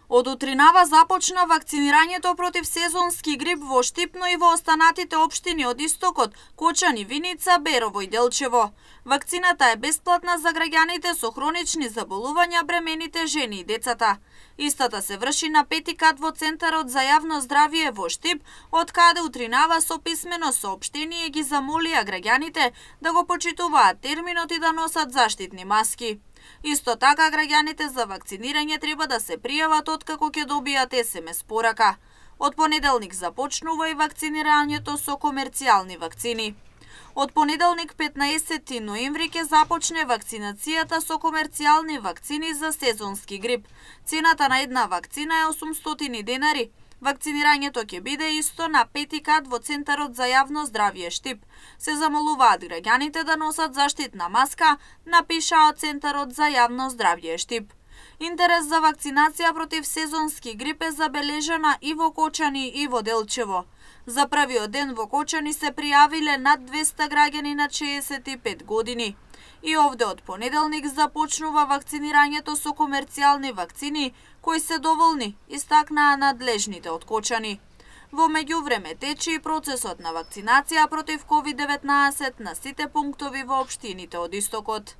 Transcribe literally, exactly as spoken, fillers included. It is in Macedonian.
Од утринава започна вакцинирањето против сезонски грип во Штип, но и во останатите општини од Истокот, Кочани, Виница, Берово и Делчево. Вакцината е бесплатна за граѓаните со хронични заболувања, бремените жени и децата. Истата се врши на пети кат во Центарот за јавно здравје во Штип, од каде утринава со писмено соопштение ги замолија граѓаните да го почитуваат терминот и да носат заштитни маски. Исто така, граѓаните за вакцинирање треба да се пријават откако ќе добијат ес ем ес порака. Од понеделник започнува и вакцинирањето со комерцијални вакцини. Од понеделник петнаесети ноември ќе започне вакцинацијата со комерцијални вакцини за сезонски грип. Цената на една вакцина е осумстотини денари. Вакцинирањето ќе биде исто на пети кат во Центарот за јавно здравје Штип. Се замолуваат граѓаните да носат заштитна маска, напишаа Центарот за јавно здравје Штип. Интерес за вакцинација против сезонски грип е забележана и во Кочани и во Делчево. За првиот ден во Кочани се пријавиле над двеста граѓани на шеесет и пет години. И овде од понеделник започнува вакцинирањето со комерцијални вакцини, кои се доволни, истакнаа надлежните од Кочани. Во меѓувреме тече и процесот на вакцинација против ковид деветнаесет на сите пунктови во општините од Истокот.